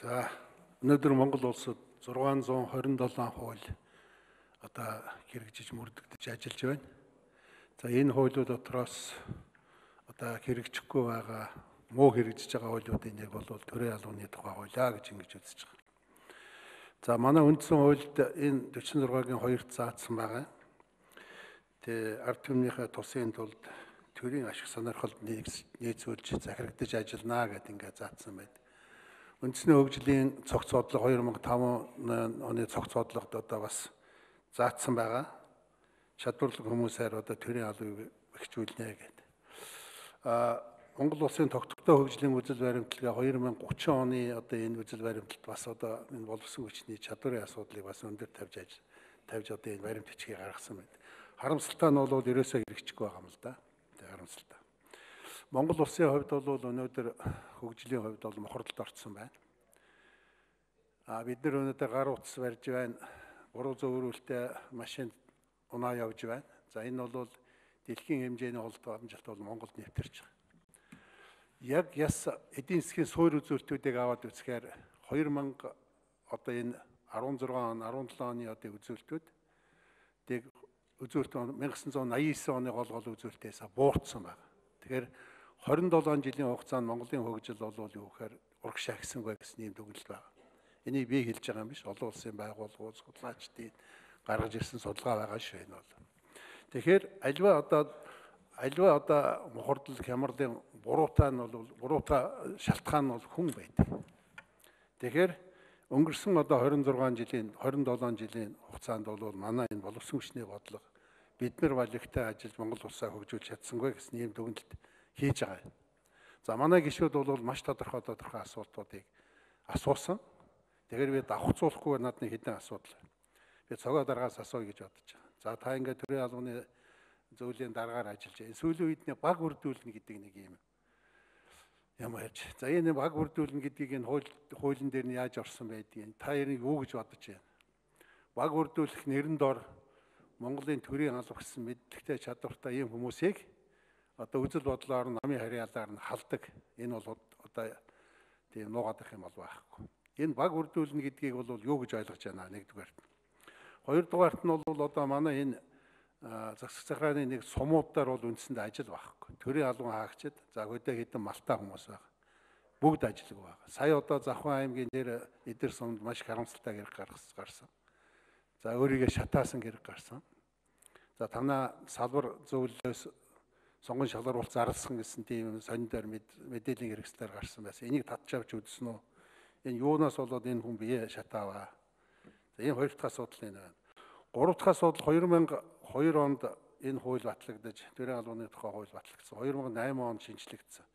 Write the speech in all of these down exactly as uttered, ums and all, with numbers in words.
За өнөөдөр Монгол улсад зургаан зуун хорин долоон хууль одоо хэрэгжиж мөрдөгдөж ажиллаж байна. За энэ хуулиуд дотроос одоо хэрэгжихгүй байгаа муу хэрэгжиж байгаа хуулиудын нэг бол төрийн албаны тухай хуулиа гэж ингэж үзэж байгаа. За манай үндсэн хуульд энэ дөрвөн зургагийн хоёрт заасан байгаа. Тэгээ ард түмнийхээ тусын тулд төрийн ашиг сонирхолд нийцүүлж захирагдаж ажиллана гэдэг ингээд заасан байдаг. Үндэсний хөгжлийн цогц бодлого хоёр мың таван оны цогц бодлогод одоо бас заасан байгаа. Чадварлаг хүмүүсээр одоо төрийн албыг бэхжүүлнэ гэдэг. А Монгол улсын тогтвортой хөгжлийн үзэл баримтлагаа хоёр мың гучин оны одоо энэ үзэл баримталд бас одоо энэ боловсон хүчний чадварын асуудлыг бас өндөр тавьж ажил тавьж одоо энэ баримт бичгийг гаргасан байна. Харамсалтай нь бол ерөөсөө хэрэгжихгүй байгаа юм л да. Тэг харамсалтай. Монгол улсын хувьд бол өнөөдөр хөгжлийн хувьд бол мохорлолд орсон байна. А бид нар өнөөдөр гар утас барьж байна. Буруу зөвөрүүлэлттэй машин унаа явж байна. За энэ бол дэлхийн хэмжээний холдоо амжилт бол Монголд нэвтэрч байгаа. Яг яс эдийн засгийн суур үзүүлэлтүүдийг аваад үзэхээр хоёр мянга одоо энэ арван зургаан он арван долоон оны одоо үзүүлэлтүүд тэг үзүүлэлт он мянга девятьсот восемьдесят девять оны гол гол үзүүлэлтээс буурсан байна. Тэгэхээр хорин долоон жилийн хугацаанд Монголын хөгжил бол юу гэхээр урагш агсангүй гэсэн юм дүгнэлт байна. Энийг би хэлж байгаа юм биш. Олон улсын байгууллагууд судлаачдын гаргаж ирсэн судалгаа байгаа шүү энэ бол. Тэгэхээр альва одоо альва одоо мохордол хямралын буруутай нь бол буруутай шалтгаан нь бол хүн байдаг. Тэгэхээр өнгөрсөн одоо хорин зургаан жилийн хорин долоон жилийн хугацаанд бол манай энэ боловсон хүчний бодлого бид нар балигтай ажиллаж Монгол улсаа хөгжүүлж чадсангүй гэсэн ийм дүгнэлт хийж байгаа. За манай гишүүд бол маш тодорхой тодорхой асуултуудыг асуусан. Тэгэхээр би давхцуулахгүй над нэг хэдэн асуудал. Би цогоо дараагаас асууя гэж бодож байгаа. За та ингээд төрийн албаны зөвлөлийн дараагаар ажиллаж байна. Сүүлийн үед нэг баг үрдүүлнэ гэдэг нэг юм юм ярьж. За энэ баг үрдүүлнэ гэдгийг энэ хууль хуулийн дээр нь яаж орсон байдгийг та яриг юу гэж бодож байна? Баг үрдүүлэх нэрэн дор Монголын төрийн алба гэсэн мэдлэгтэй чадвартай ийм хүмүүсийг одоо үзэл бодлоор нь намын харьяалаар нь халдаг. Энэ бол одоо тийм нуугадах юм бол байхгүй. Энэ баг үрдүүлнэ гэдгийг бол юу гэж ойлгож байна нэгдүгээрт. Хоёрдугаарт нь бол одоо манай энэ засаг захиргааны нэг сумуудаар бол үндсэндээ ажил байхгүй. Төрийн албан хаагчид за хөдөө хэдэн малтай хүмүүс байна. Бүгд ажилгүй байгаа. Сая одоо Завхан аймгийн дээр эдэр сумд маш харамсалтай гэрэг гарсан. За өөрийгөө шатаасан гэрэг гарсан. За танаа салбар зөвлөлөөс сонгон шалгаруулалт зарласан гэсэн тийм сонидор мэдээллийн хэрэгслээр гарсан байсан. Энийг татж авч үзсэн үү? Энэ юунаас болоод энэ хүн бие шатааваа. За энэ хоёр дахь асуудал энэ байна. Гурав дахь асуудал хоёр мың и хоёр онд энэ хууль батлагдаж төрийн албаны тухай хууль батлагдсан. хоёр мың и восемь онд шинжлэгдсэн.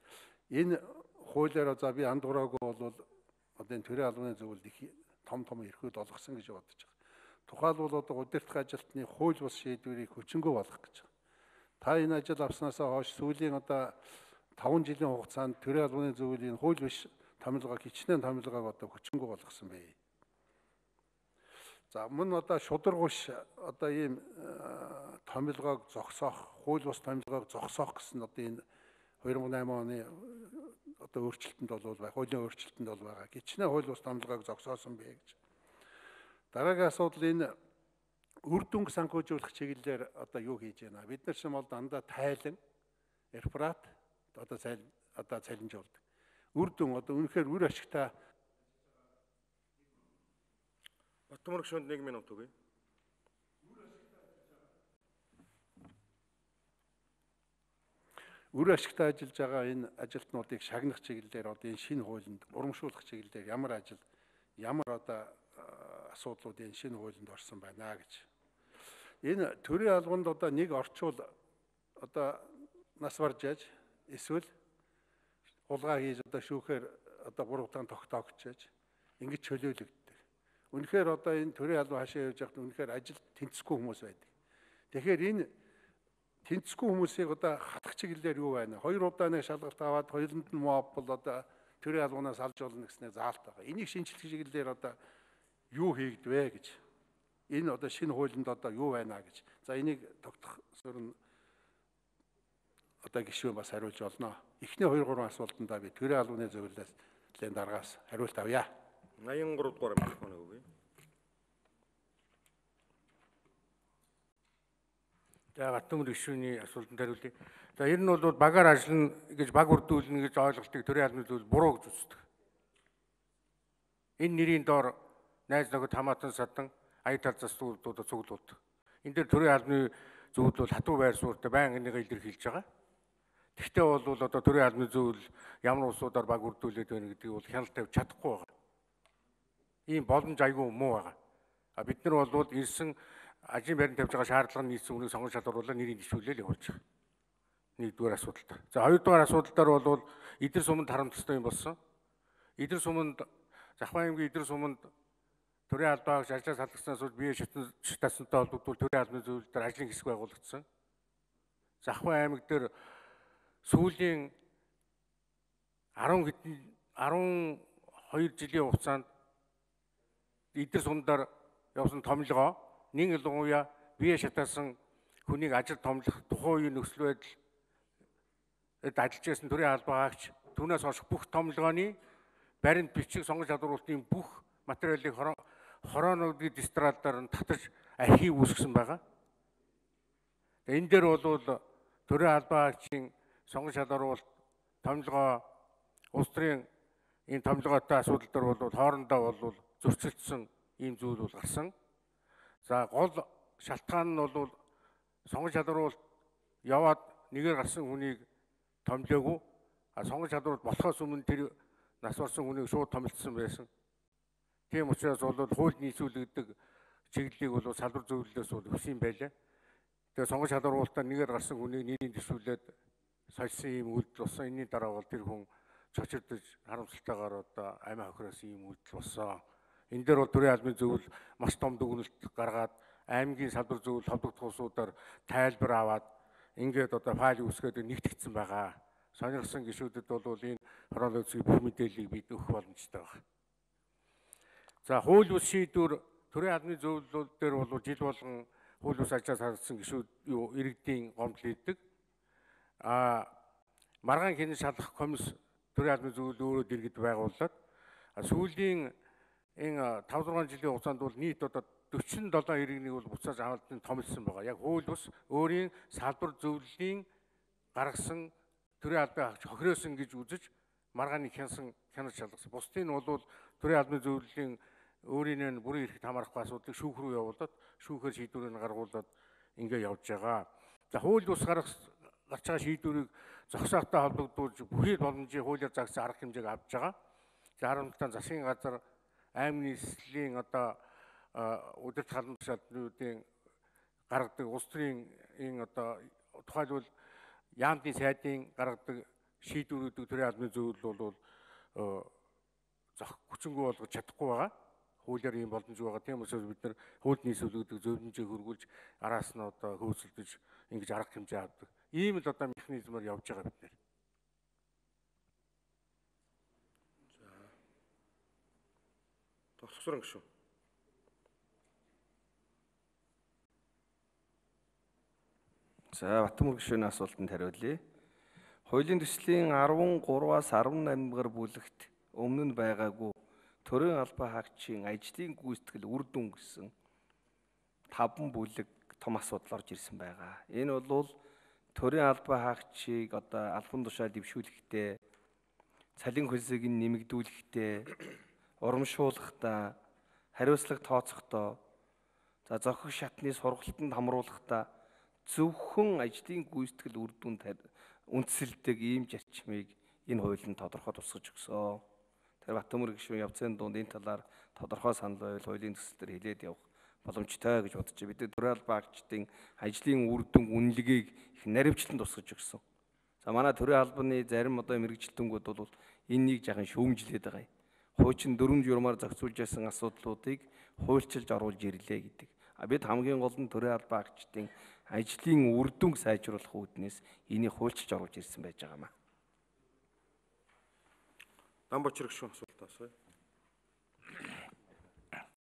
Энэ хуулиараа за би андуураагүй бол одоо энэ төрийн албаны зөвлөлд их том том эрхүүд олгосон гэж бодож байгаа. Тухайлбал одоо удирдах ажилтны хууль бус шийдвэрийг хүчингү болгох гэж байгаа. Та энэ ажил авснаасаа хойш сүүлийн одоо таван жилийн хугацаанд төрийн албаны зөвлөлийн хууль биш томилгоо хичнээн томилгоог одоо хүчингү болгосон бай. За мөн одоо шударгуш одоо ийм томилгоог зогсоох, хууль бус томилгоог зогсоох гэсэн одоо энэ хоёр мың и восемь оны одоо өөрчлөлтөнд бол байх, хуулийн өөрчлөлтөнд бол байгаа. Хичнээн хууль бус томилгоог зогсоосон бай гэж. Дараагийн асуудал энэ үр дүнг санхүүжүүлэх чиглэлээр одоо юу хийж байна? Бид нар ч юм бол дандаа тайлан, реферат одоо цайл одоо цалинжуулдаг. Үр дүн одоо үнэхээр үр ашигтай. Батмөр гүшүүнд нэг минут өгье. Үр ашигтай ажиллаж байгаа энэ ажилтнуудыг шагнах чиглэлээр одоо энэ шинэ хуулинд урамшуулах чиглэлээр ямар ажил, ямар одоо асуудлууд энэ шинэ хуулинд орсон байна гэж. Энэ төрийн албанд одоо нэг орчуул одоо нас барж яаж эсвэл хулгай хийж одоо шүүхээр одоо буруутай тогтоогчээж ингэж чөлөөлөгддөг. Үнэхээр одоо энэ төрийн албан хашаа явж байхад үнэхээр ажил тэнцэхгүй хүмүүс байдаг. Тэгэхээр энэ тэнцэхгүй хүмүүсийг одоо хатах чиглэлээр юу байна? Хоёр удаа нэг шалгалт аваад хоёуланд нь моб бол одоо төрийн албанаас алж болно гэснээр заалт байгаа. Энийг шинжлэх чиглэлээр одоо юу хийгдвэ гэж. Энэ одоо шинэ хуулинд одоо юу байна гэж. За энийг тогтох суурь одоо гишүүн бас хариулж олно. Эхний хоёр гурван асуултандаа би төрийн албаны зөвлөлөөс дараагаас хариулт авъя. eighty-three дугаар микрофоныг өгье. За Баттамөр гишүүний асуултанд хариулъя. За ер нь бол багаар ажиллана гэж баг үрдүүлнэ гэж ойлголтыг төрийн албаны зүйл буруу гэж үздэг. Энэ нэрийн доор найз нөхөд хамаатан садан ая талзаас зүйлдүүд цуглуулдаг. Энэ дээр төрийн албаны зүйл бол хатуу байр суурьтай байнга энийг илэрхийлж байгаа. Тэгвэл бол одоо төрийн албаны зүйл ямар улсуудаар баг үрдүүлээд байна гэдгийг бол хяналт тавьж чадахгүй байгаа. Ийм боломж айгүй муу байгаа. А бид нар бол ирсэн ажийн байранд тавьж байгаа шаардлага нийцсэн үнийг сонгон шалгаруулаад нэрийг дэвшүүлээл явуулж байгаа. Нэгдүгээр асуудал таар. За хоёрдугаар асуудал таар бол эдэр суманд харамттай юм болсон. Эдэр суманд Захбаа аймгийн эдэр суманд төрийн албаагч ажлаас халдагснаас бол бие шатаасантай холбогдвол төрийн албаны зүйл дээр ажлын хэсэг байгуулагдсан. Захбаа аймаг дээр сүүлийн арван хэдэн арван хоёр жилийн хугацаанд эдэр сумдаар явсан томилгоо нэг ялангуяа бие шатаасан хүнийг ажил томлох тухайн үеийн нөхцөл байдал ажиллаж байсан төрийн албаагч түүнээс хойш бүх томилгооны баримт бичиг сонгож чадварлалтын бүх материалыг хороонуудын дистралдаар нь татаж архив үүсгэсэн байгаа. Энэ дээр бол төрийн албаагчийн сонгож чадварлалт томилгоо улс төрийн энэ томилгоотой асуудал дээр бол хоорондоо бол зөрчилдсөн ийм зүйл бол гарсан. За гол шалтгаан нь бол сонгож чадварлалт яваад нэгээр гарсан хүнийг томилоогүй. А сонгож чадварлалт болохоос өмнө тэр нас барсан хүнийг шууд томилсон байсан. Тийм учраас бол хууль нийцүүлэгдэх чиглэлийг бол салбар зөвлөлөөс бол өгсөн байлаа. Тэгээ сонгож чадварлалтаа нэгээр гарсан хүнийг нэрийн дэвшүүлээд сольсон ийм үйлдэл болсон. Энийн дараа бол тэр хүн цочирдож харамсалтайгаар одоо амиа хохироос ийм үйлдэл болсон. Энэ дээр бол төрийн албаны зөвлөл маш том дүгнэлт гаргаад аймгийн салбар зөвлөл холбогдох улсуудаар тайлбар аваад ингээд одоо файл үүсгээд нэгтгэгдсэн байгаа. Сонирхсан гишүүдэд бол энэ хороолол үзгийн бүх мэдээллийг бид өгөх боломжтой байна. За хууль бус шийдвэр төрийн албаны зөвлөлүүд дээр бол жил болгон хууль бус ажлаас харагдсан гишүүд юу иргэдийн гомдол хийдэг. А маргаан хянан шалгах комисс төрийн албаны зөвлөл өөрөө дэргэд байгууллаад сүүлийн энэ five six жилийн хугацаанд бол нийт одоо forty-seven иргэнийг бол буцааж авалтын томилсон байгаа. Яг хууль бус өөрийн салбар зөвлөлийн гаргасан төрийн албаны хохироосон гэж үзэж маргааныг хянсан хянаж шалгасан. Бусдын нь бол төрийн албаны зөвлөлийн өөрийн бүрэн эрхт хамаарахгүй асуудлыг шүүх рүү явуулаад шүүхээр шийдвэрийг гаргуулад ингэ явж байгаа. За хууль бус гарах гарч байгаа шийдвэрийг зогсоохтой холбогдуулж бүхий боломжийн хуулиар заасан арга хэмжээг авч байгаа. За харамттай засгийн газар аймгийн нийслэлийн одоо удирдах халамж шалгалтын гаргадаг улс төрийн энэ одоо тухайлбал яамны сайдын гаргадаг шийдвэрүүдийг төрийн албаны зөвлөл бол зах хүчингүй болгож чадахгүй байгаа. Хуулиар ийм боломж байгаа. Тийм учраас бид нар хууль нийслүүлэгдэг зөвлөмжийг хөргүүлж араас нь одоо хөөцөлдөж ингэж арга хэмжээ авдаг. Ийм л одоо механизмаар явж байгаа бид нар. Тоглохсорон гишүүн. За Баттамөр гишүүний асуултанд хариулъя. Хуулийн төслийн13-аас eighty-eight дугаар бүлэгт өмнө нь байгаагүй төрийн албан хаагчийн ажлын гүйцэтгэл үр дүн гэсэн таван бүлэг том асуудал орж ирсэн байгаа. Энэ бол төрийн албан хаагчийг одоо албан тушаал дэвшүүлэхдээ, цалин хөлсийг нэмэгдүүлэхдээ, урамшуулахдаа, хариуцлага тооцохдоо, за зохих шатны сургалтанд хамруулахдаа зөвхөн ажлын гүйцэтгэл үр дүнд үндэслэдэг ийм зарчмыг энэ хууль нь тодорхой тусгаж өгсөн. Тэр Баттамөр гишүүн явцын дунд энэ талаар тодорхой санал байвал хуулийн төсөл дээр хэлээд явах боломжтой гэж бодож байна. Бид төрийн албан хаагчдын ажлын үр дүн үнэлгээг их наривчлан тусгаж өгсөн. За манай төрийн албаны зарим одоо мэрэгчлэлтүүнгүүд бол энэнийг жаахан шүүмжлээд байгаа юм. Хуучин дөрвөн журмаар зохицуулж байсан асуудлуудыг хуульчилж оруулж ирлээ гэдэг. А бид хамгийн гол нь төрийн албан хаагчдын ажлын үр дүнг сайжруулах үүднээс энийг хуульчилж оруулж ирсэн байж байгаа юм. Дамбочир гишүүн асуулт асууя.